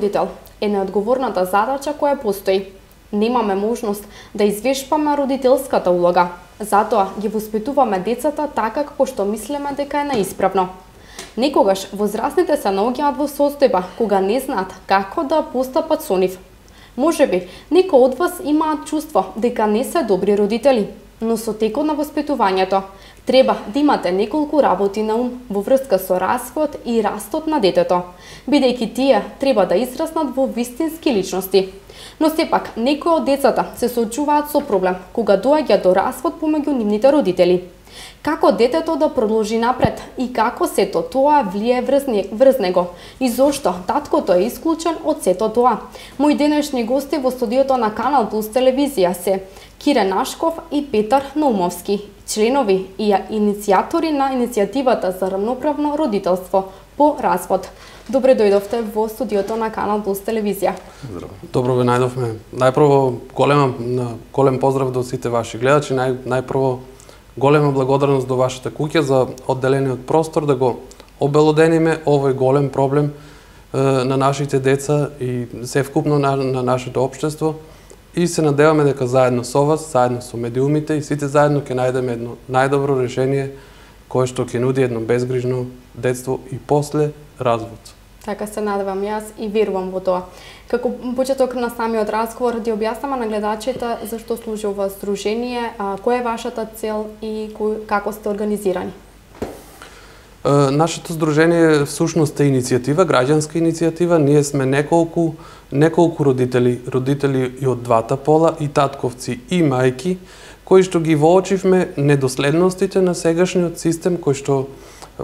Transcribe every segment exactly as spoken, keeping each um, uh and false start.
родител е неодговорната задача која постои. Немаме можност да извешпаме родителската улога, затоа ги воспитуваме децата така како што мислиме дека е наисправно. Некогаш возрастните се наоѓаат во состојба кога не знаат како да постапат со нив. Можеби некои од вас имаат чувство дека не се добри родители, но со текот на воспитувањето треба да имате неколку работи на ум во врска со развојот и растот на детето, бидејќи тие треба да израснат во вистински личности. Но сепак, некои од децата се соочуваат со проблем кога доаѓа до развод помеѓу нивните родители. Како детето да продолжи напред и како сето тоа влие врз него и зошто таткото е исклучен од сето тоа. Мои денешни гости во студиото на Канал Плюс телевизија се Кире Нашков и Петар Наумовски, членови и иницијатори на иницијативата за равноправно родителство по развод. Добре дојдовте во студиото на Канал Плюс телевизија. Здраво. Добро ве најдовме. Најпрво голем голем поздрав до сите ваши гледачи, нај најпрво голема благодарност до вашата куќа за одделениот простор да го обелодениме овој голем проблем е, на нашите деца и севкупно на, на нашето општество. И се надеваме дека заедно со вас, заедно со медиумите и сите заедно ќе најдеме едно најдобро решение кое што ќе нуди едно безгрижно детство и после развод. Така се надевам јас и верувам во тоа. Како почеток на самиот разговор, да објаснаме на гледачите зашто служи ова здружение, а, која е вашата цел и кој, како сте организирани? Е, нашето здружение всушност е иницијатива, граѓанска иницијатива. Ние сме неколку неколку родители, родители и од двата пола, и татковци и мајки, кои што ги воочивме недоследностите на сегашниот систем кој што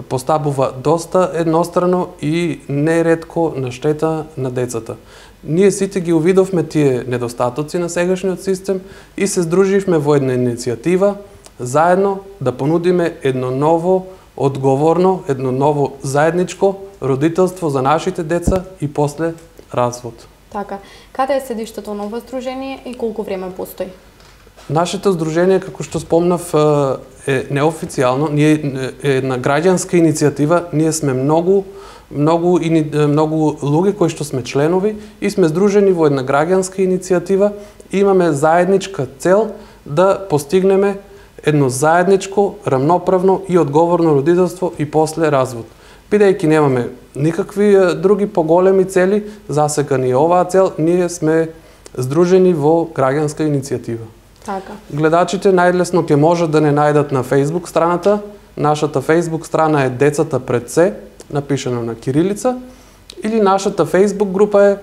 поставува доста еднострано и неретко на штета на децата. Ние сите ги увидовме тие недостатоци на сегашниот систем и се здруживме во една иницијатива заедно да понудиме едно ново, одговорно, едно ново заедничко родителство за нашите деца и после развод. Така, каде е седиштето на ова здружение и колку време постои? Нашето здружение, како што спомнав, е неофицијално, ние е една граѓанска иницијатива, ние сме многу многу многу луѓе кои што сме членови и сме здружени во една граѓанска иницијатива и имаме заедничка цел да постигнеме едно заедничко, рамноправно и одговорно родителство и после развод. Бидејќи немаме никакви други поголеми цели, засега ни е оваа цел, ние сме здружени во граѓанска иницијатива. Така. Гледачите најлесно ќе можат да не најдат на Facebook страната. Нашата Facebook страна е Децата пред се, напишано на кирилица, или нашата Facebook група е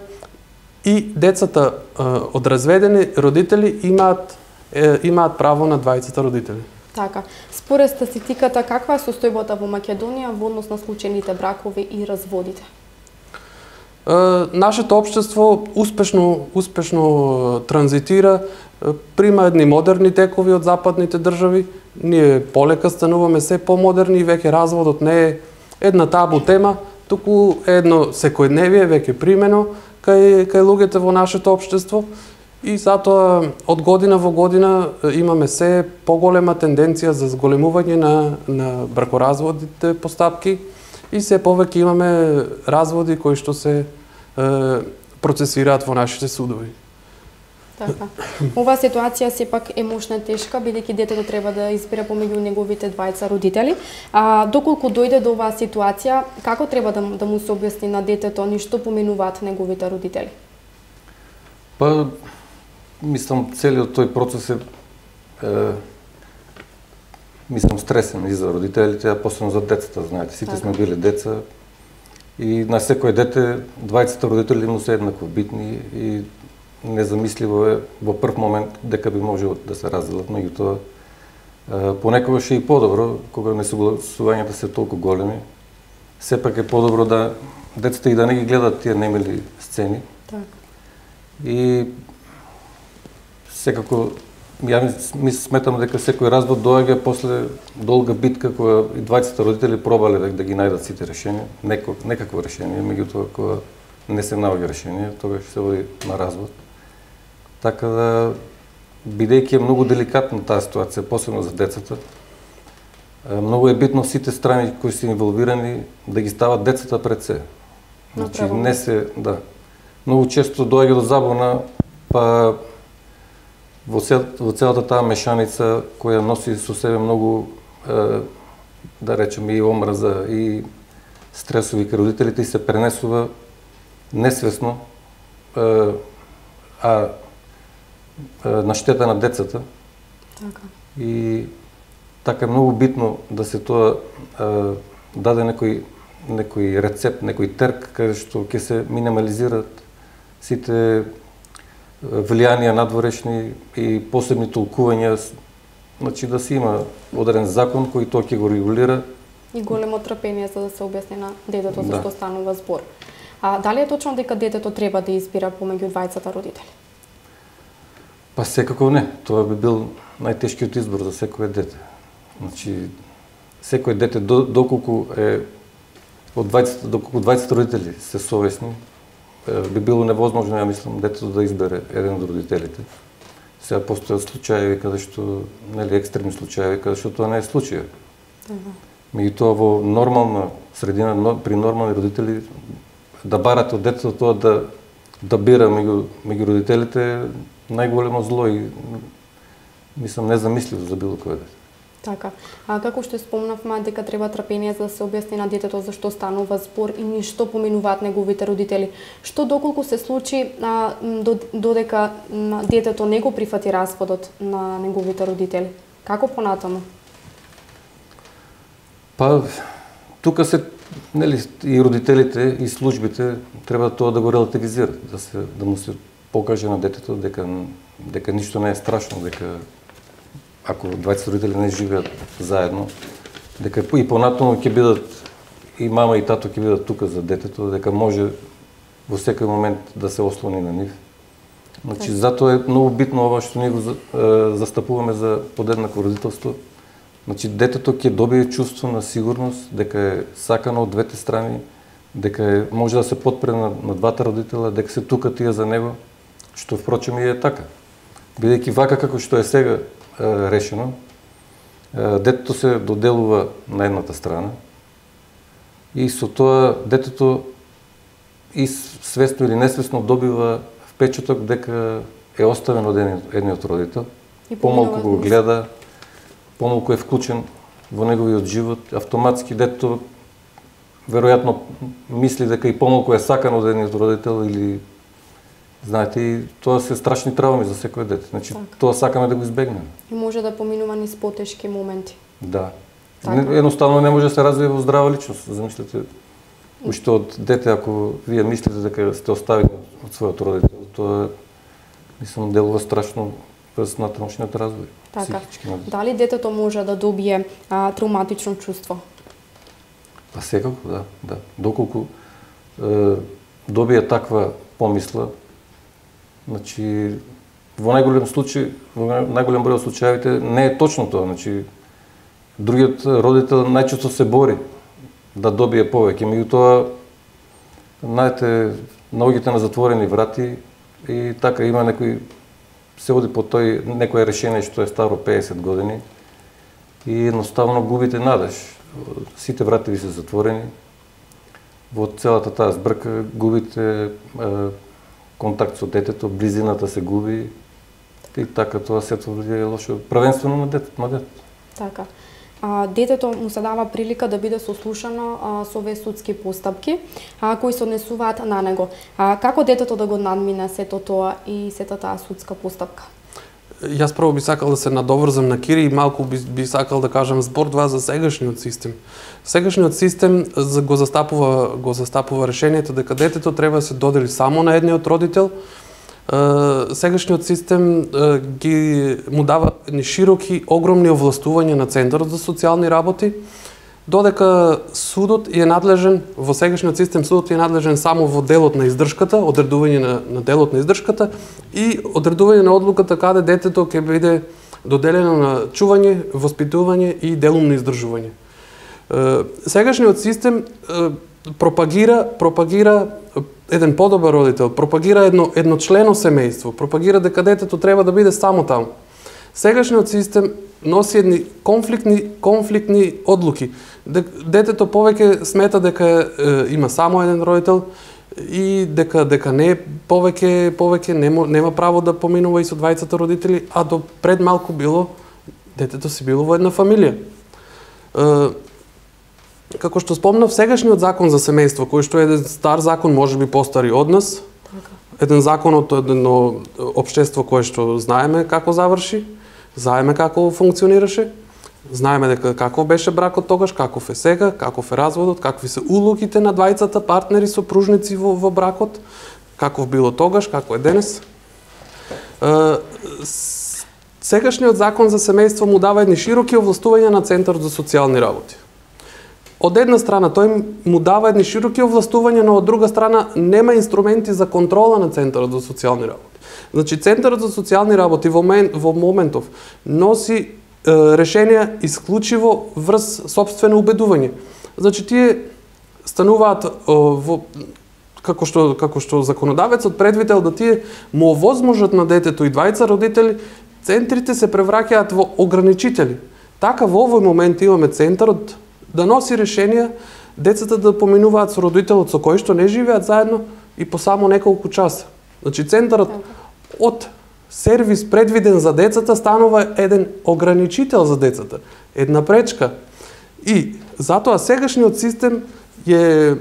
и децата е, од разведени родители имаат е, имаат право на двајцата родители. Така. Според статистиката, каква е состојбата во Македонија во однос на случајните бракови и разводите? Е, нашето општество успешно успешно транзитира, прима едни модерни текови од западните држави. Ние полека стануваме се помодерни и веќе разводот не е една табу тема, туку е едно секојдневие веќе примено кај кај луѓето во нашето општество. И затоа од година во година имаме се поголема тенденција за зголемување на на бракоразводните постапки и се повеќе имаме разводи кои што се е, процесираат во нашите судови. Така. Оваа ситуација сепак е мошна тешка, бидејќи детето треба да избере помеѓу неговите двајца родители. А доколку дојде до оваа ситуација, како треба да, да му се објасни на детето ни што поменуваат неговите родители? Па, мислам, целиот тој процес е, е мислам, стресен и за родителите, а посебно за децата, знаете. Сите така сме били деца и на секој дете двајцата родители му се еднакво битни и незамисливо е во прв момент дека би можело да се разделат, меѓутоа понекогаш е и подобро кога несогласувањата се толку големи. Сепак е подобро да децата и да не ги гледат тие немили сцени. Так. И секако ја ми сметам дека секој развод доаѓа после долга битка која и двајцата родители пробале да, да ги најдат сите решенија, неко, некакво решение, меѓутоа кога не се наоѓа решение, тогаш се води на развод. Така да, бидејќи е многу деликатна таа ситуација, посебно за децата, многу е битно сите страни кои се инволвирани да ги стават децата пред се. Значи не се, да, многу често доаѓа до забуна, па во, цел, во целата таа мешаница која носи со себе многу, е, да речеме, и омраза, и стресови кај родителите, и се пренесува несвесно, е, а е, на штета на децата. Така. И така е многу битно да се тоа е, даде некој некој рецепт, некој терк каде што ќе се минимализираат сите влијанија надворешни и посебни толкувања, значи да се има одреден закон кој тоа ќе го регулира. И големо трпение за да се објасни на детето за Да. што станува збор. А дали е точно дека детето треба да избира помеѓу двајцата родители? Па секако не, тоа би бил најтешкиот избор за секое дете. Значи секое дете доколку е од двајцата, доколку двајцата родители се совесни, би било невозможно, ја мислам, детето да избере еден од родителите. Сега постојат случаи каде што, нели, екстремни случаи каде што тоа не е случај. Меѓутоа во нормална средина, при нормални родители, да барате од детето тоа да да бира меѓу меѓу родителите е најголемо зло и мислам незамисливо за било кој дете. Така. А како што спомнавме дека треба трпение за да се објасни на детето за што станува збор и ништо поминуваат неговите родители. Што доколку се случи а, додека детето не го прифати разводот на неговите родители? Како понатаму? Па тука се, нели, и родителите и службите треба тоа да го релативизираат, да се да му се покаже на детето дека дека ништо не е страшно, дека ако двајцата родители не живеат заедно, дека и понатаму ќе бидат и мама и тато ќе бидат тука за детето, дека може во секој момент да се ослони на нив. Значи затоа е многу битно ова што ние го застапуваме за подеднакво родителство. Значи детето ќе добие чувство на сигурност дека е сакано од двете страни, дека е, може да се подпре на, на двата родителя, дека се тука тие за него, што впрочем и е така. Бидејќи вака како што е сега решено, детето се доделува на едната страна и со тоа детето и свесно или несвесно добива впечаток дека е оставен од едниот родител, помалку го гледа, помалку е вклучен во неговиот живот, автоматски детето веројатно мисли дека и помалку е сакан од едниот родител или знаете, и тоа се страшни травми за секој дете. Значи, так. Тоа сакаме да го избегнеме. И може да поминува низ потешки моменти. Да. Не, едноставно не може да се развие во здрава личност. Замислете, уште од дете, ако вие мислите дека сте оставени од својот родител, тоа, мислам, делува страшно през натамошниот развој. Така. Дали детето може да добие а, травматично чувство? Па секако, да. да. Доколку е, добие таква помисла, значи, во најголем случај, во најголем број од случаевите не е точно тоа, значи другиот родител најчесто се бори да добие повеќе, меѓутоа знаете, наоѓате на затворени врати и така има некој се оди по тој некое решение што е старо песет години и едноставно губите надеж. Сите врати ви се затворени. Во целата таа збрка губите е, контакт со детето, близината се губи и така тоа сето влијае лошо, првенствено на детето, на детето. Така. А, детето му се дава прилика да биде сослушано а, со овие судски постапки а, кои се однесуваат на него. А, како детето да го надмине сето тоа и сета таа судска постапка? Јас прво би сакал да се надоврзам на Кири и малку би, би сакал да кажам збор два за сегашниот систем. Сегашниот систем го застапува го застапува решението дека детето треба да се додели само на едниот родител. Сегашниот систем ги му дава едни широки, огромни овластувања на Центарот за социјални работи, додека судот е надлежен, во сегашниот систем судот е надлежен само во делот на издршката, одредување на, на делот на издршката и одредување на одлуката каде детето ќе биде доделено на чување, воспитување и делумно издржување. Сегашниот систем пропагира пропагира еден подобар родител, пропагира едно едночлено семејство, пропагира дека детето треба да биде само таму. Сегашниот систем носи едни конфликтни конфликтни одлуки. Детето повеќе смета дека е, има само еден родител и дека дека не повеќе повеќе нема нема право да поминува и со двајцата родители, а до пред малку било детето си било во една фамилија. Е, како што спомнав, сегашниот закон за семејство, кој што е еден стар закон, можеби постари од нас, еден закон од едно општество кое што знаеме како заврши, знаеме како функционираше, знаеме дека каков беше бракот тогаш, каков е сега, каков е разводот, какви се улогите на двајцата партнери сопружници во, во бракот, каков било тогаш, како е денес. Е, сегашниот закон за семејство му дава едни широки овластувања на Центарот за социјални работи. Од една страна тој му дава едни широки овластувања, но од друга страна нема инструменти за контрола на Центарот за социјални работи. Значи Центарот за социјални работи во, момент, во моментов носи е, решенија исклучиво врз сопствено убедување. Значи тие стануваат е, во како што како што законодавецот предвидел да тие му овозможат на детето и двајца родители, центрите се превраќаат во ограничители. Така во овој момент имаме Центарот да носи решенија децата да поминуваат со родителот со кој што не живеат заедно и по само неколку часа. Значи Центарот од сервис предвиден за децата станува еден ограничител за децата, една пречка. И затоа сегашниот систем е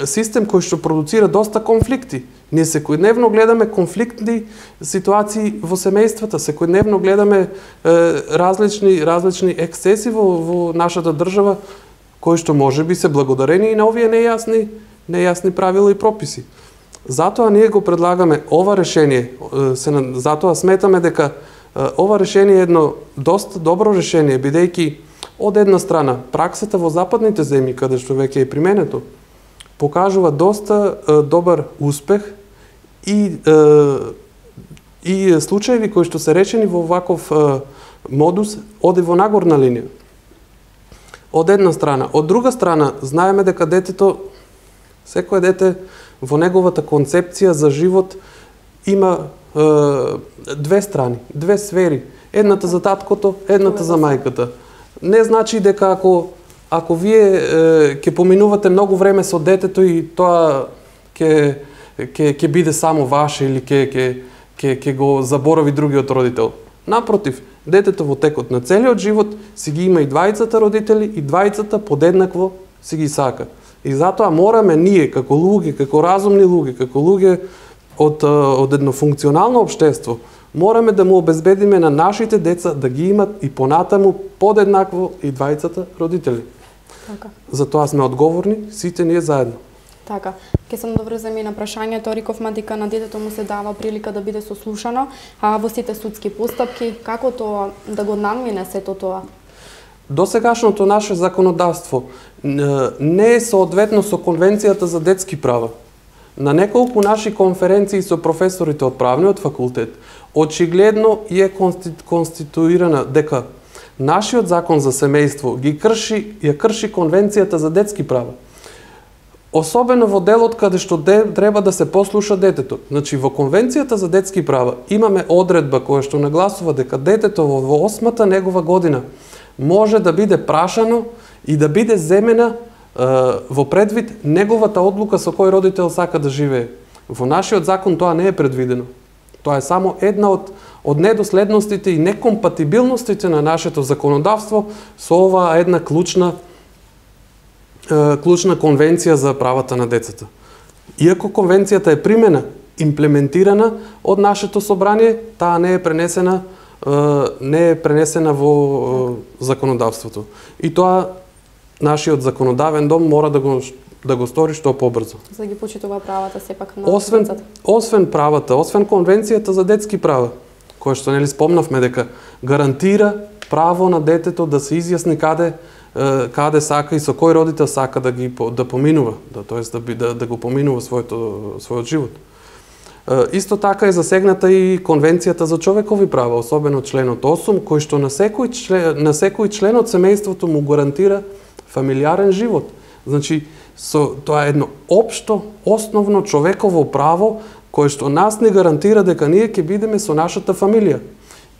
систем кој што продуцира доста конфликти. Ние секојдневно гледаме конфликтни ситуации во семејствата, секојдневно гледаме е, различни различни ексцеси во, во нашата држава, кои што можеби се благодарени и на овие нејасни нејасни правила и прописи. Затоа ние го предлагаме ова решение, се, затоа сметаме дека ова решение е едно доста добро решение, бидејќи од една страна праксата во западните земји, каде што веќе е применето, покажува доста е, добар успех и е, и случаеви кои што се речени во ваков е, модус оди во нагорна линија. Од една страна, од друга страна знаеме дека детето, секое дете во неговата концепција за живот има е, две страни, две сфери. Едната за таткото, едната за мајката. Не значи дека ако ако вие е, ќе поминувате многу време со детето и тоа ќе ќе ќе биде само ваше или ќе ќе ќе ќе го заборави другиот родител. Напротив, детето во текот на целиот живот си ги има и двајцата родители и двајцата подеднакво си ги сака. И затоа мораме ние како луѓе, како разумни луѓе, како луѓе од од едно функционално општество, мораме да му обезбедиме на нашите деца да ги имат и понатаму подеднакво и двајцата родители. Така. Затоа сме одговорни сите ние заедно. Така, ќе се надоврземе и на прашањето, рековме дека на детето му се дава прилика да биде сослушано, а во сите судски постапки, како тоа да го надмине сето тоа? Досегашното наше законодавство не е соодветно со Конвенцијата за детски права. На неколку наши конференции со професорите од правниот факултет, очигледно е конституирана дека нашиот закон за семејство ги крши, ја крши Конвенцијата за детски права. Особено во делот каде што де, треба да се послуша детето. Значи, во Конвенцијата за детски права имаме одредба која што нагласува дека детето во, во осмата негова година може да биде прашано и да биде земена е, во предвид неговата одлука со кој родител сака да живее. Во нашиот закон тоа не е предвидено. Тоа е само една од, од недоследностите и некомпатибилностите на нашето законодавство со оваа една клучна клучна конвенција за правата на децата. Иако конвенцијата е примена, имплементирана од нашето собрание, таа не е пренесена не е пренесена во законодавството. И тоа нашиот законодавен дом мора да го да го стори што побрзо. За да ги почитува правата сепак на освен, децата. Освен правата, освен Конвенцијата за детски права, која што нели спомнавме дека гарантира право на детето да се изјасни каде каде сака и со кој родител сака да ги да поминува, да тоест да би да, да го поминува своето својот живот. Исто така е засегната и Конвенцијата за човекови права, особено членот осум, кој што на секој член, на секој член од семејството му гарантира фамилиарен живот. Значи, со тоа е едно општо, основно човеково право кое што нас не гарантира дека ние ќе бидеме со нашата фамилија.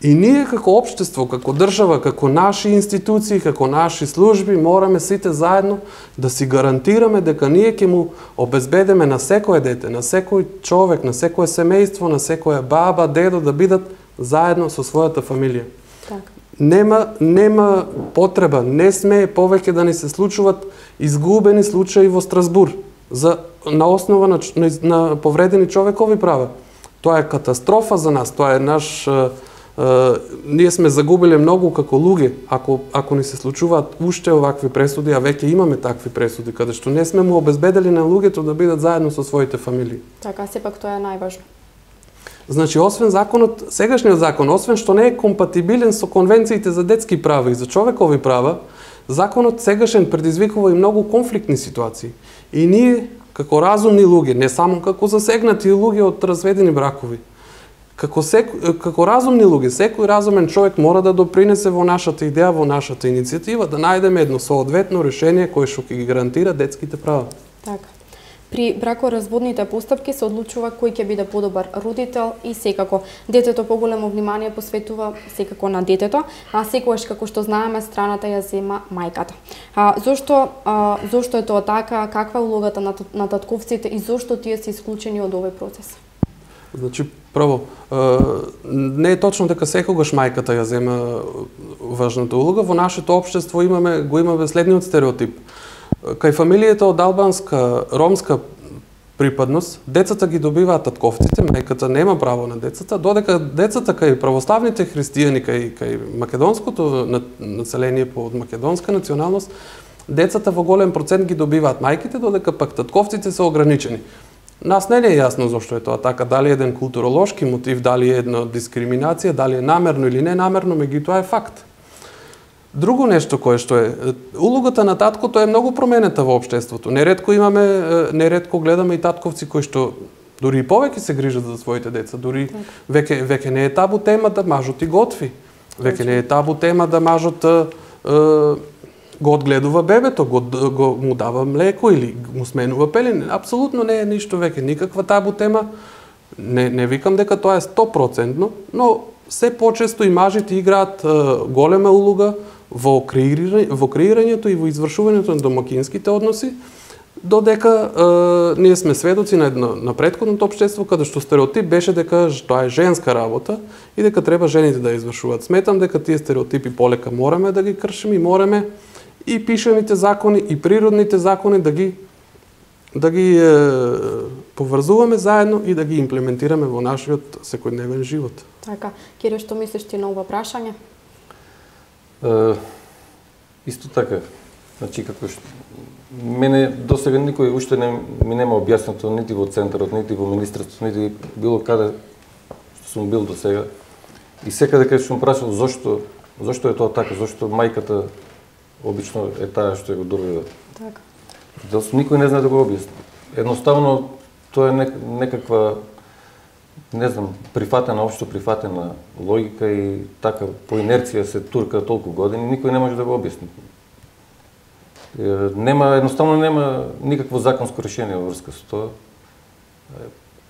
И ние како општество, како држава, како наши институции, како наши служби, мораме сите заедно да си гарантираме дека ние ќе му обезбедиме на секое дете, на секој човек, на секое семејство, на секоја баба, дедо да бидат заедно со својата фамилија. Така. Нема, нема потреба, не смее повеќе да ни се случуваат изгубени случаи во Страсбур за, на основа на, на, на повредени човекови права. Тоа е катастрофа за нас, тоа е наш... Е, е, ние сме загубиле многу како луѓе, ако, ако ни се случуваат уште овакви пресуди, а веќе имаме такви пресуди, каде што не сме му обезбедели на луѓето да бидат заедно со своите фамилии. Така, сепак тоа е најважно. Значи, освен законот, сегашниот закон, освен што не е компатибилен со конвенциите за детски права и за човекови права, законот сегашен предизвикува и многу конфликтни ситуации. И ние, како разумни луѓе, не само како засегнати луѓе од разведени бракови, како, сек, како разумни луѓе, секој разумен човек мора да допринесе во нашата идеја, во нашата иницијатива, да најдеме едно соодветно решение кое што ќе ги гарантира детските права. Така. При бракоразводните постапки се одлучува кој ќе биде подобар родител и секако детето поголемо внимание посветува секако на детето, а секогаш како што знаеме страната ја зема мајката. А зошто а, зошто е тоа така, каква е улогата на, на татковците и зошто тие се исклучени од овој процес? Значи, прво, не е точно дека секогаш мајката ја зема важната улога. Во нашето општество имаме го имаме следниот стереотип. Кај фамилијата од албанска, ромска припадност, децата ги добиваат татковците, мајката нема право на децата, додека децата кај православните христијани, кај, кај македонското население по македонска националност, децата во голем процент ги добиваат мајките, додека пак татковците се ограничени. Нас не е јасно зошто е тоа така, дали е еден културолошки мотив, дали е една дискриминација, дали е намерно или не намерно, меѓутоа е факт. Друго нешто кое што е, улогата на таткото е многу променета во општеството. Неретко имаме, неретко гледаме и татковци кои што дури и повеќе се грижат за своите деца, дури веќе веќе не е табу тема да мажот и готви. Веќе не е табу тема да мажот е, го одгледува бебето, го, го му дава млеко или му сменува пелени. Апсолутно не е ништо веќе никаква табу тема. Не не викам дека тоа е сто проценти, но се почесто и мажите играат е, голема улога во креирање, во креирањето и во извршувањето на домакинските односи, додека е, ние сме сведоци на едно на претходното општество каде што стереотип беше дека тоа е женска работа и дека треба жените да извршуваат. Сметам дека тие стереотипи полека мораме да ги кршиме и мораме и пишаните закони и природните закони да ги да ги е, поврзуваме заедно и да ги имплементираме во нашиот секојдневен живот. Така, Кире, што мислиш ти на ова прашање? Uh, исто така, значи како што мене досега никој уште не ми нема објаснато нити во центарот, нити во министерството, нити било каде што сум бил досега. И секаде каде сум прашал зошто зошто е тоа така, зошто мајката обично е таа што го добива. Така. Делсо никој не знае да го објасни. Едноставно тоа е некаква не знам, прифатена, општо прифатена логика и така по инерција се турка толку години, никој не може да го објасни. Нема, едноставно нема никакво законско решение во врска со тоа.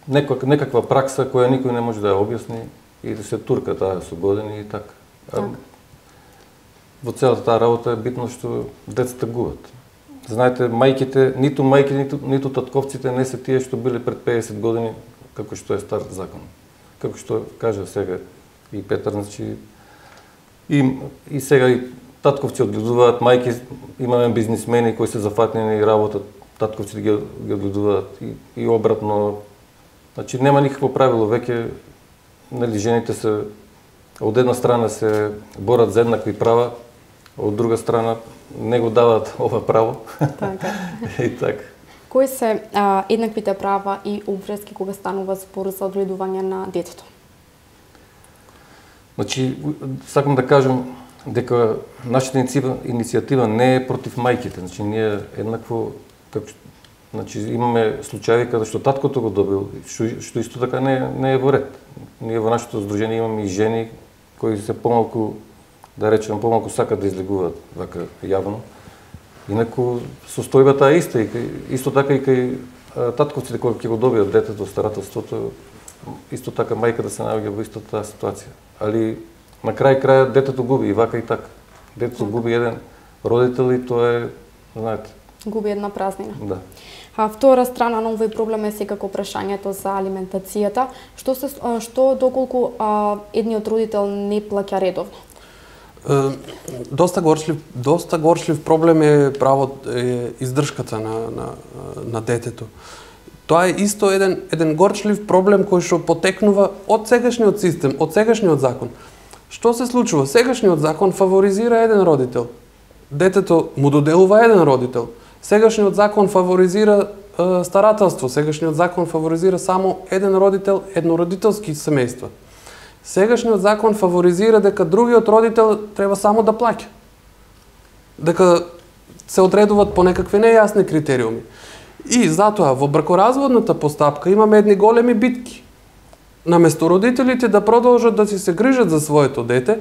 Некак, некаква пракса која никој не може да ја објасни и да се турка таа со години и така. А, во целата таа работа е битно што децата губат. Знаете, мајките, ниту мајки, ниту, ниту татковците не се тие што биле пред педесет години како што е стар закон. Како што кажа сега и Петар, значи и, и сега и татковци одгледуваат, мајки, имаме бизнисмени кои се зафатнени и работат, татковци ги, ги одгледуваат и, и обратно. Значи нема никакво правило, веќе нели жените се од една страна се борат за еднакви права, од друга страна не го даваат ова право. Така. И така. Кои се а, еднаквите права и обврски кога станува збор за одгледување на детето? Значи, сакам да кажам дека нашата иницијатива не е против мајките. Значи, ние еднакво, како, значи, имаме случаи каде што таткото го добил, што, што исто така не, не е во ред. Ние во нашето здружение имаме и жени кои се помалку, да речем, помалку сакат да излегуваат вака јавно. Инаку состојбата е иста, и кај, исто така и кај татковците кои ќе го добијат детето од старателството, исто така мајката се наоѓа во истата ситуација. Али на крај крајот детето губи и вака и така. Детето губи еден родител и тоа е, знаете, губи една празнина. Да. А втора страна на овој проблем е секако прашањето за алиментацијата. Што се што доколку а, едниот родител не плаќа редовно? Е, доста горчлив, доста горчлив проблем е право е издршката на на на детето. Тоа е исто еден еден горчлив проблем кој што потекнува од сегашниот систем, од сегашниот закон. Што се случува? Сегашниот закон фаворизира еден родител. Детето му доделува еден родител. Сегашниот закон фаворизира е, старателство, сегашниот закон фаворизира само еден родител, еднородителски семејства. Сегашниот закон фаворизира дека другиот родител треба само да плаќа. Дека се одредуваат по некакви нејасни критериуми. И затоа во бракоразводната постапка имаме едни големи битки. Наместо родителите да продолжат да си се грижат за своето дете,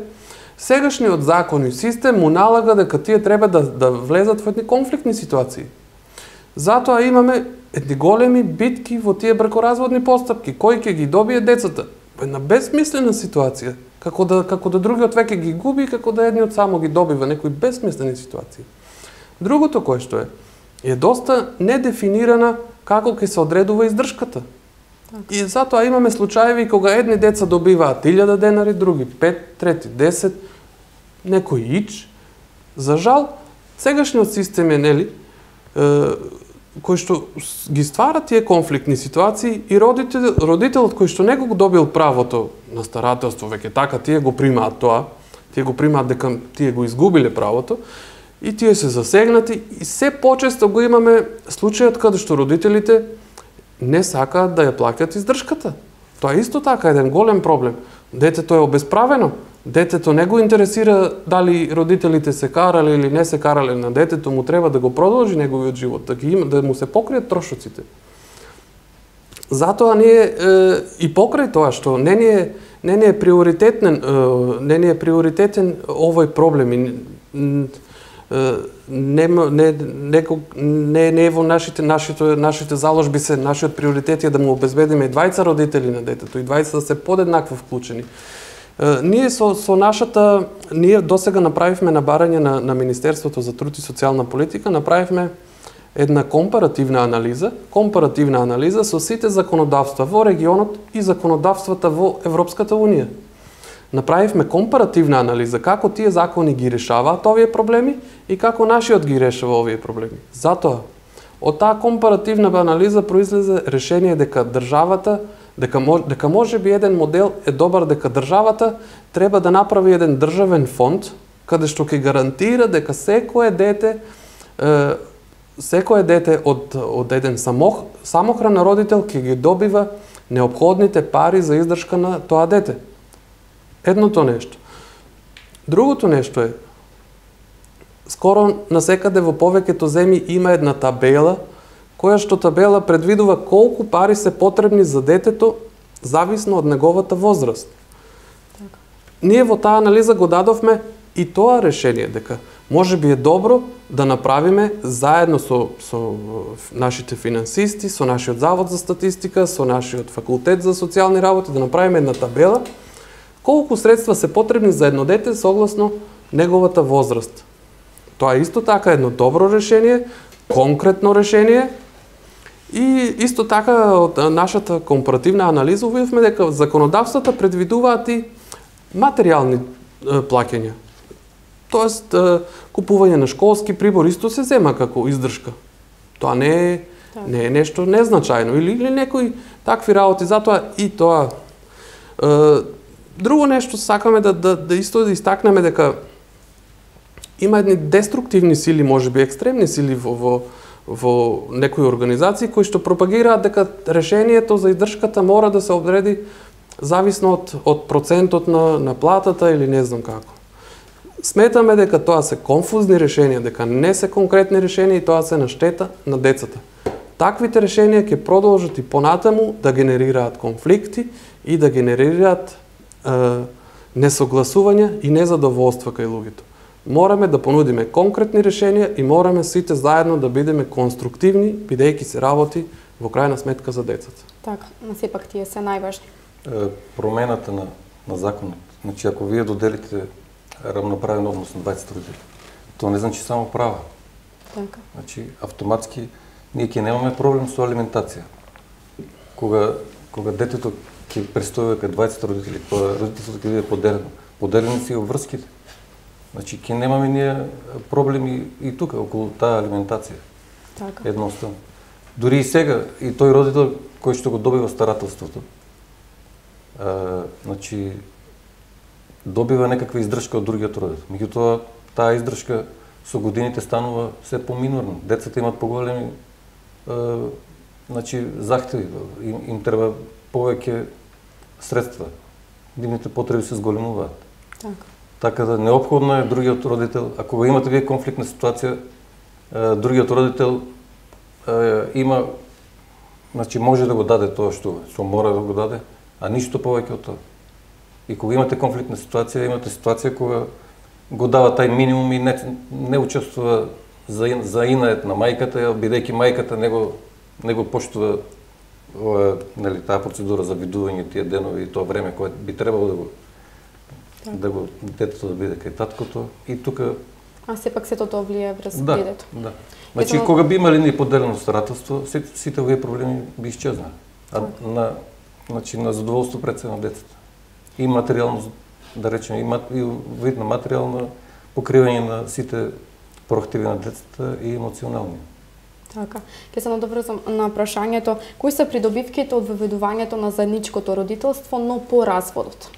сегашниот закон и систем му налага дека тие треба да, да влезат во едни конфликтни ситуации. Затоа имаме едни големи битки во тие бракоразводни постапки. Кој ќе ги добие децата? Една безсмислена ситуација. Како да, како да другиот веќе ги губи, како да едниот само ги добива, некои безсмислени ситуации. Другото кое што е, е доста недефинирана како ќе се одредува издршката. И затоа имаме случаеви кога едни деца добиваат илјада денари, други пет, трети десет, некој ич. За жал, сегашниот систем е, нели, е, кој што ги ствара тие конфликтни ситуации и родител, родителот кој што не го добил правото на старателство, веќе така тие го примаат тоа, тие го примаат дека тие го изгубиле правото, и тие се засегнати, и се почесто го имаме случајот каде што родителите не сакаат да ја плаќат издршката. Тоа е исто така еден голем проблем. Детето е обесправено. Детето не го интересира дали родителите се карале или не се карале, на детето му треба да го продолжи неговиот живот, да ги има, да му се покријат трошоците. Затоа ние е, и покрај тоа што не ни е не ни е приоритетен е, не ни е приоритетен овој проблем и не не не не во нашите нашите нашите заложби се нашиот приоритет е да му обезбедиме и двајца родители на детето и двајца да се подеднакво вклучени. Ние со со нашата ние досега направивме на барање на на Министерството за труд и социјална политика, направивме една компаративна анализа, компаративна анализа со сите законодавства во регионот и законодавствата во Европската унија. Направивме компаративна анализа како тие закони ги решаваат овие проблеми и како нашиот ги решава овие проблеми. Затоа, од таа компаративна анализа произлезе решение дека државата, дека може, дека може би еден модел е добар, дека државата треба да направи еден државен фонд каде што ќе гарантира дека секое дете е, секое дете од од еден самох, самохран родител ќе ги добива неопходните пари за издршка на тоа дете. Едното нешто. Другото нешто е, скоро насекаде во повеќето земји има една табела, која што табела предвидува колку пари се потребни за детето, зависно од неговата возраст. Така. Ние во таа анализа го дадовме и тоа решение, дека може би е добро да направиме заедно со, со нашите финансисти, со нашиот завод за статистика, со нашиот факултет за социјални работи, да направиме една табела, колку средства се потребни за едно дете согласно неговата возраст. Тоа е исто така едно добро решение, конкретно решение и исто така од нашата компаративна анализа увидовме дека законодавствата предвидуваат и материјални плаќања. Тоест, купување на школски прибор исто се зема како издршка. Тоа не е, не е нешто незначајно или, или некои такви работи, затоа и тоа. Друго нешто сакаме да, да, да исто да истакнеме дека има едни деструктивни сили, можеби екстремни сили во, во, во некои организации кои што пропагираат дека решението за издршката мора да се одреди зависно од, од процентот на, на платата или не знам како. Сметаме дека тоа се конфузни решенија, дека не се конкретни решенија и тоа се на штета на децата. Таквите решенија ќе продолжат и понатаму да генерираат конфликти и да генерираат е, несогласувања и незадоволства кај луѓето. Мораме да понудиме конкретни решенија и мораме сите заедно да бидеме конструктивни, бидејќи се работи во крајна сметка за децата. Така, но сепак тие се најважни. Промената на, на законот Значи, ако вие доделите равноправен однос на дваесет родители, тоа не значи само права. Така. Значи, автоматски ние ќе немаме проблем со алиментација. Кога кога детето ќе престои кај дваесет родители, кога родителството ќе биде поделено, поделени си обврските. Значи, ќе немаме ние проблеми и тука околу таа алиментација. Така. Едноставно. Дури и сега, и тој родител кој што го добива старателството, а, значи, добива некаква издршка од другиот родител. Меѓутоа, таа издршка со годините станува се поминорна. Децата имат поголеми а, значи, захтеви, им, им треба повеќе средства. Нивните потреби се зголемуваат. Така. Така да неопходно е другиот родител, ако го имате вие конфликтна ситуација, а, другиот родител а, има, значи може да го даде тоа што што мора да го даде, а ништо повеќе од тоа. И кога имате конфликтна ситуација, имате ситуација кога го дава тај минимум и не, не учествува за, за инает на мајката, бидејќи мајката не го, не го поштува ова, нели, таа процедура за видување тие денови и тоа време кое би требало да го так. да го детето да биде кај таткото и тука. А сепак сето тоа влијае врз да, детето. Да. Значи Ето... кога би имали ни поделено старателство, сите, сите овие проблеми би исчезнали. А на значи на задоволство пред се на децата. И материјално, да речеме, и, мат, и вид на материјално покривање на сите проактиви на децата и емоционални. Така. Ке се надоврзам на прашањето, кои се придобивките од воведувањето на заедничкото родителство, но по разводот?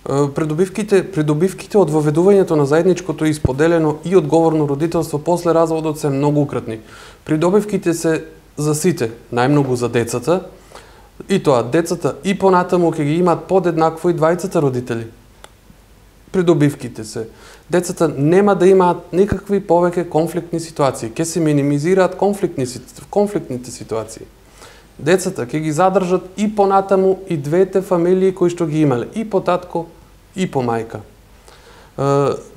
Придобивките, придобивките од воведувањето на заедничкото и споделено и одговорно родителство после разводот се многократни. Придобивките се за сите, најмногу за децата, и тоа децата и понатаму ќе ги имаат подеднакво и двајцата родители. Придобивките се децата нема да имаат никакви повеќе конфликтни ситуации, ќе се минимизираат конфликтни конфликтните ситуации. Децата ќе ги задржат и понатаму и двете фамилии кои што ги имале, и по татко и по мајка.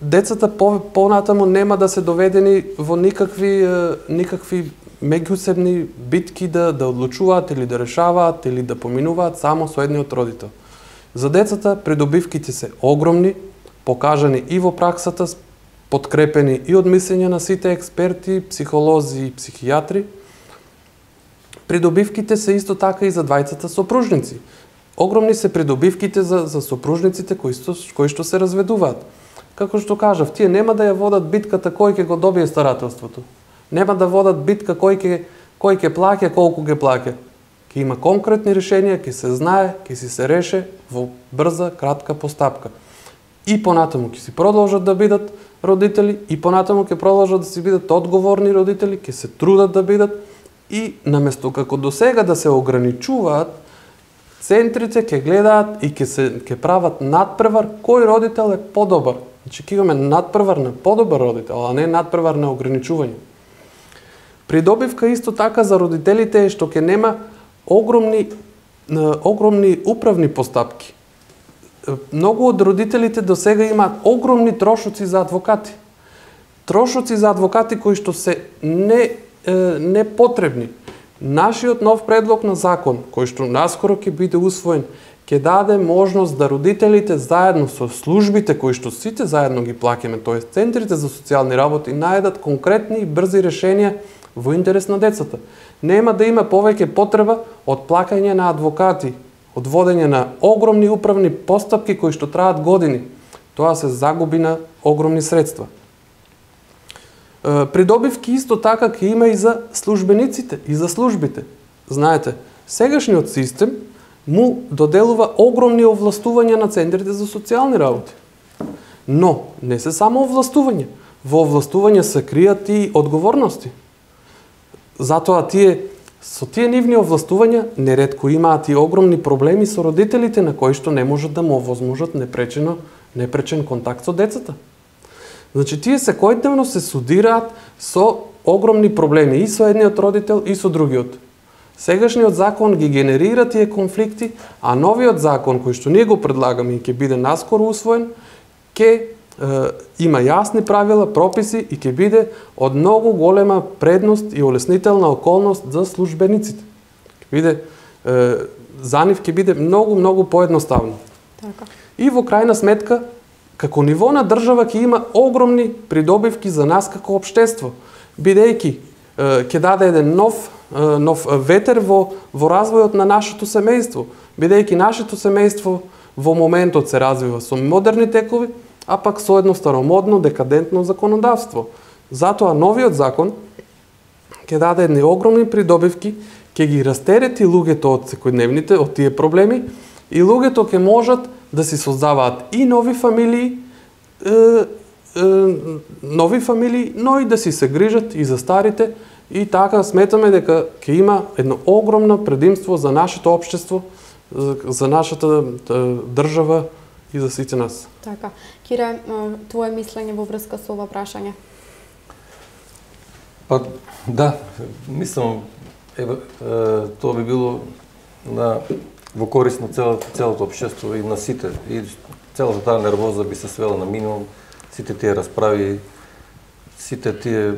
Децата по, понатаму нема да се доведени во никакви никакви меѓусебни битки да да одлучуваат или да решаваат или да поминуваат само со едниот родител. За децата придобивките се огромни, покажани и во праксата, подкрепени и од мислење на сите експерти, психолози и психијатри. Придобивките се исто така и за двајцата сопружници. Огромни се придобивките за, за сопружниците кои што, кои што се разведуваат. Како што кажав, тие нема да ја водат битката кој ќе го добие старателството. Нема да водат битка кој ќе кој ќе плаќа, колку ќе плаќа. Ќе има конкретни решенија, ќе се знае, ќе си се реше во брза, кратка постапка. И понатаму ќе си продолжат да бидат родители, и понатаму ќе продолжат да си бидат одговорни родители, ќе се трудат да бидат. И наместо како до сега да се ограничуваат, центрите ќе гледаат и ќе се ќе прават надпревар кој родител е подобар. Значи ќе имаме надпревар на подобар родител, а не надпревар на ограничување. Придобивка исто така за родителите е што ќе нема огромни огромни управни постапки. Многу од родителите до сега имаат огромни трошоци за адвокати. Трошоци за адвокати кои што се не непотребни. Нашиот нов предлог на закон, кој што наскоро ќе биде усвоен, ќе даде можност да родителите заедно со службите кои што сите заедно ги плаќаме, тоест центрите за социјални работи, најдат конкретни и брзи решенија во интерес на децата. Нема да има повеќе потреба од плаќање на адвокати, од водење на огромни управни постапки кои што траат години. Тоа се загуби на огромни средства. Придобивки исто така ќе има и за службениците, и за службите. Знаете, сегашниот систем му доделува огромни овластувања на центрите за социјални работи. Но, не се само овластување. Во овластување се кријат и одговорности. Затоа тие, со тие нивни овластувања, неретко имаат и огромни проблеми со родителите на кои што не можат да му овозможат непречено, непречен контакт со децата. Значи, тие секојдневно се судираат со огромни проблеми и со едниот родител и со другиот. Сегашниот закон ги генерира тие конфликти, а новиот закон кој што ние го предлагаме и ќе биде наскоро усвоен, ќе е, има јасни правила, прописи и ќе биде од многу голема предност и олеснителна околност за службениците. Ќе биде е, за нив ќе биде многу многу поедноставно. Така. И во крајна сметка, како ниво на држава ќе има огромни придобивки за нас како општество, бидејќи ќе даде еден нов нов ветер во во развојот на нашето семејство, бидејќи нашето семејство во моментот се развива со модерни текови, а пак со едно старомодно, декадентно законодавство. Затоа новиот закон ќе даде едни огромни придобивки, ќе ги растерети луѓето од секојдневните, од тие проблеми, и луѓето ќе можат да си создаваат и нови фамилии, е, е, нови фамилии, но и да си се грижат и за старите, и така сметаме дека ќе има едно огромно предимство за нашето општество, за, за нашата држава и за сите нас. Така. Кире, твое мислење во врска со ова прашање? Па да, мислам, еве, тоа би било на во корист на целото, целото општество и на сите. И целата таа нервоза би се свела на минимум, сите тие расправи, сите тие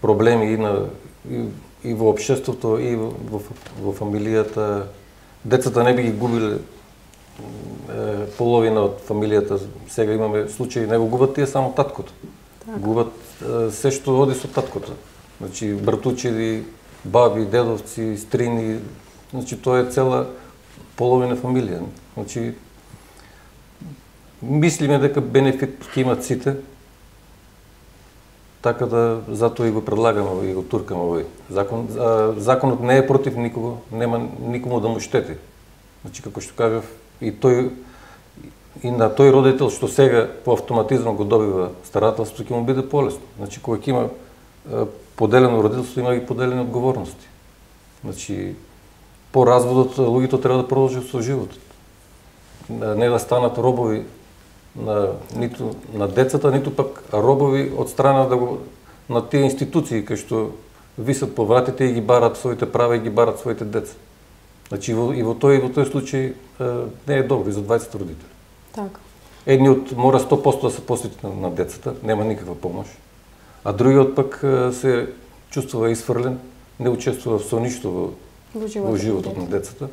проблеми и, на, и, и во општеството, и во, во, во фамилијата. Децата не би ги губиле е, половина од фамилијата. Сега имаме случаи, не го губат тие само таткото. Так. Губат е, се што оди со таткото. Значи, братучеди, баби, дедовци, стрини, значи, тоа е цела половина фамилија. Значи, мислиме дека бенефит ќе имат сите, така да затоа и го предлагаме и го туркаме овој закон. Законот не е против никого, нема никому да му штети. Значи, како што кажав, и тој и на тој родител што сега по автоматизам го добива старателство, ќе му биде полесно. Значи, кога ќе има поделено родителство, има и поделени одговорности. Значи, по разводот луѓето треба да продолжат со животот. Не да станат робови на ниту на децата, ниту пак робови од страна да го на тие институции кои што висат по вратите и ги барат своите права и ги барат своите деца. Значи во, и во тој и во тој случај не е добро и за дваесет родители. Така. Едниот мора сто проценти да се посвети на, на децата, нема никаква помош, а другиот пак се чувствува изфрлен, не учествува со ништо во, во животот, во животот на децата.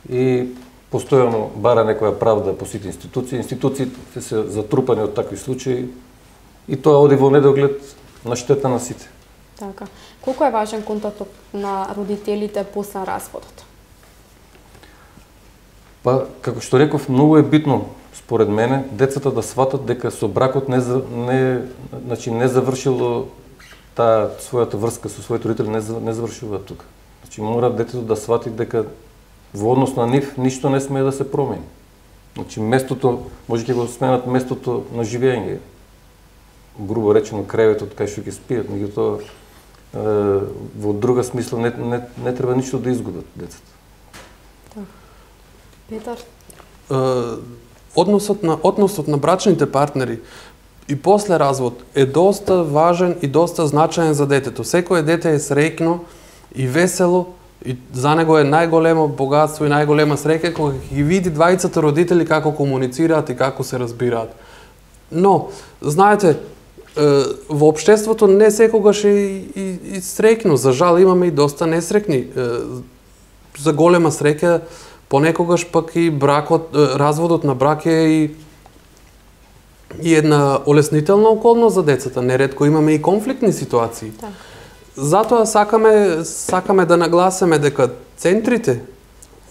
И постојано бара некоја правда по сите институции. Институциите се затрупани од такви случаи и тоа оди во недоглед на штета на сите. Така. Колку е важен контактот на родителите после разводот? Па, како што реков, многу е битно, според мене, децата да сватат дека со бракот не, не, значи, не завршило таа својата врска со своите родители, не, не завршува тука. Значи, мора детето да свати дека во однос на нив ништо не смее да се промени. Значи, местото, може ќе го сменат местото на живење. Грубо речено, креветот кај што ќе спијат, меѓутоа во друга смисла не, не, не треба ништо да изгубат децата. Так. Петар? Односот на, односот на брачните партнери и после развод е доста важен и доста значаен за детето. Секое дете е среќно и весело, и за него е најголемо богатство и најголема среќа кога ги види двајцата родители како комуницираат и како се разбираат. Но, знаете, во општеството не секогаш е и, и, и среќно. За жал имаме и доста несреќни. За голема среќа понекогаш пак и бракот, разводот на брак е и, и една олеснителна околност за децата. Неретко имаме и конфликтни ситуации. Так. Затоа сакаме, сакаме да нагласиме дека центрите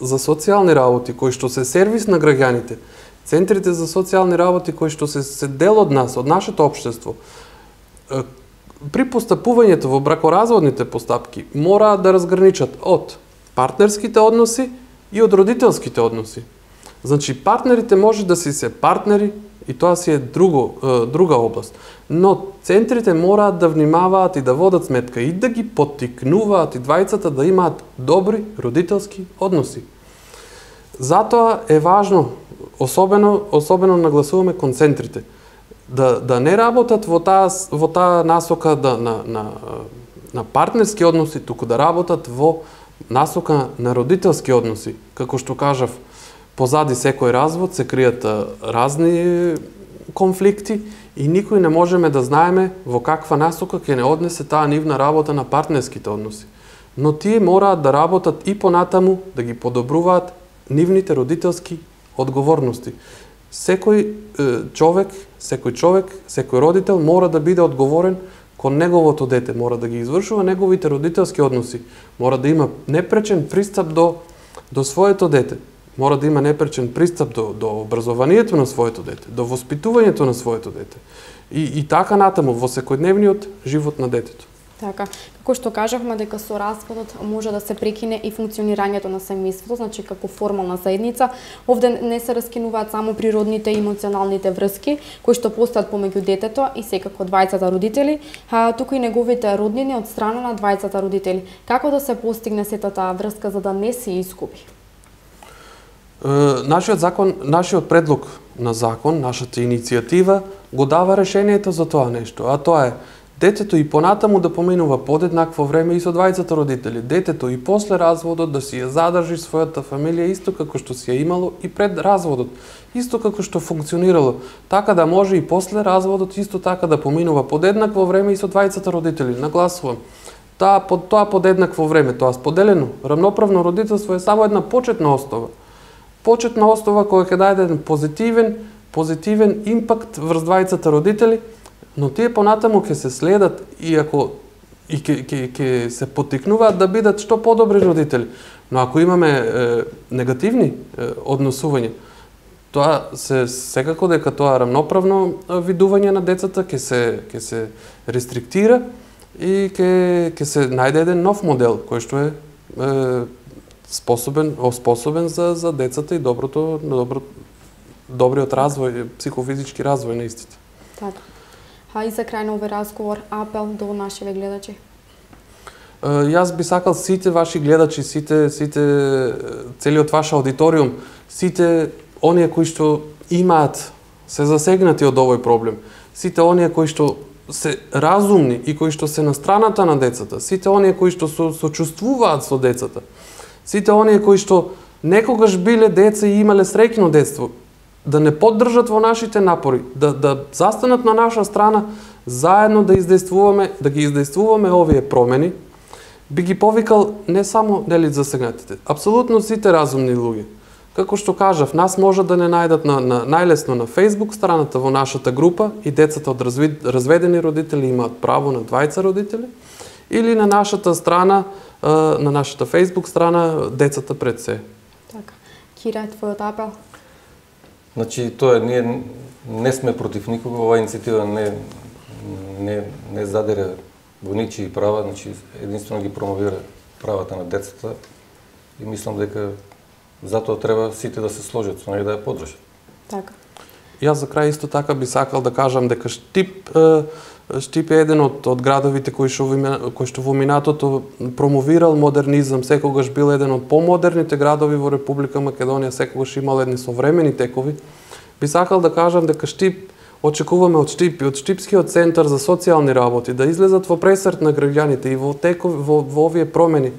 за социјални работи, кои што се сервис на граѓаните, центрите за социјални работи кои што се, се дел од нас, од нашето општество, при постапувањето во бракоразводните постапки мораат да разграничат од партнерските односи и од родителските односи. Значи, партнерите може да си се партнери и тоа си е друго, друга област. Но центрите мораат да внимаваат и да водат сметка и да ги поттикнуваат и двајцата да имаат добри родителски односи. Затоа е важно, особено, особено нагласуваме кон центрите, да, да не работат во таа, во таа насока да, на, на, на партнерски односи, туку да работат во насока на родителски односи. Како што кажав, позади секој развод се кријат разни конфликти и никој не можеме да знаеме во каква насока ќе не однесе таа нивна работа на партнерските односи. Но тие мораат да работат и понатаму да ги подобруваат нивните родителски одговорности. Секој е, човек, секој човек, секој родител мора да биде одговорен кон неговото дете, мора да ги извршува неговите родителски односи, мора да има непречен пристап до до своето дете, мора да има непречен пристап до до образованието на своето дете, до воспитувањето на своето дете. И и така натаму во секојдневниот живот на детето. Така, како што кажавме дека со распадот може да се прекине и функционирањето на семејството, значи како формална заедница. Овде не се раскинуваат само природните и емоционалните врски кои што постојат помеѓу детето и секако двајцата родители, а туку и неговите роднини од страна на двајцата родители. Како да се постигне сета таа врска за да не се изгуби? Е, нашиот закон, нашиот предлог на закон, нашата иницијатива го дава решението за тоа нешто, а тоа е детето и понатаму да поминува подеднакво време и со двајцата родители. Детето и после разводот да си ја задржи својата фамилија исто како што си ја имало и пред разводот, исто како што функционирало, така да може и после разводот исто така да поминува подеднакво време и со двајцата родители. Нагласувам, таа под тоа подеднакво време, тоа споделено рамноправно родителство е само една почетна основа. Почетна основа која ќе даде еден позитивен, позитивен импакт врз двајцата родители, но тие понатаму ќе се следат и ако и ќе ќе ќе се поттикнуваат да бидат што подобри родители. Но ако имаме е, негативни е, односувања, тоа се секако дека тоа рамноправно видување на децата ќе се ќе се рестриктира и ќе ќе се најде еден нов модел кој што е, е способен, оспособен за за децата и доброто добро добриот развој, психофизички развој на истите. Така. А и за крај на овој разговор, апел до нашите гледачи. Јас би сакал сите ваши гледачи, сите сите целиот ваш аудиториум, сите оние кои што имаат се засегнати од овој проблем, сите оние кои што се разумни и кои што се на страната на децата, сите оние кои што со, сочувствуваат со децата, сите оние кои што некогаш биле деца и имале среќно детство, да не поддржат во нашите напори, да, да застанат на наша страна, заедно да издействуваме, да ги издействуваме овие промени, би ги повикал не само нели засегнатите, апсолутно сите разумни луѓе. Како што кажав, нас може да не најдат на, на најлесно на Facebook страната во нашата група и децата од развид, разведени родители имаат право на двајца родители, или на нашата страна, на нашата Facebook страна децата пред се. Така. Кира, твојот апел? Значи, тоа ние не сме против никого, оваа иницијатива не не не задере во ничии права, значи единствено ги промовира правата на децата и мислам дека затоа треба сите да се сложат со неја да ја поддржат. Така. Јас за крај исто така би сакал да кажам дека Штип Штип е еден од од градовите кои што кои што во минатото промовирал модернизам, секогаш бил еден од помодерните градови во Република Македонија, секогаш имал едни современи текови. Би сакал да кажам дека Штип очекуваме од Штип и од Штипскиот центар за социјални работи да излезат во пресрет на граѓаните и во текови во, во овие промени,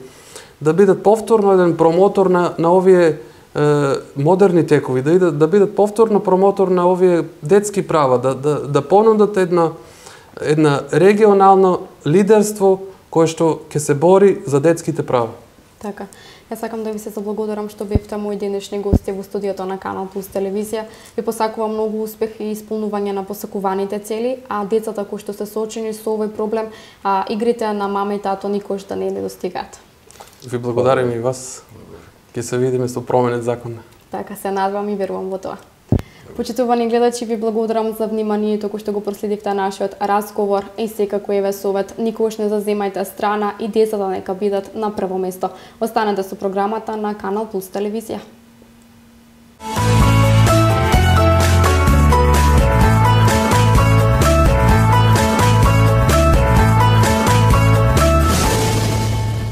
да бидат повторно еден промотор на на овие е, модерни текови, да идат, да бидат повторно промотор на овие детски права, да да да понудат една една регионално лидерство кое што ќе се бори за детските права. Така. Јас сакам да ви се заблагодарам што бевте мои денешни гости во студиото на Канал Плюс телевизија. Ви посакувам многу успех и исполнување на посакуваните цели, а децата кои што се соочени со овој проблем, а игрите на мама и тато никош да не недостигаат. Ви благодарам и вас. Ќе се видиме со променет закон. Така, се надевам и верувам во тоа. Почитувани гледачи, ви благодарам за вниманието кој што го проследивте нашиот разговор и секако еве совет, никогаш не заземајте страна и децата нека бидат на прво место. Останете со програмата на Канал Плюс телевизија.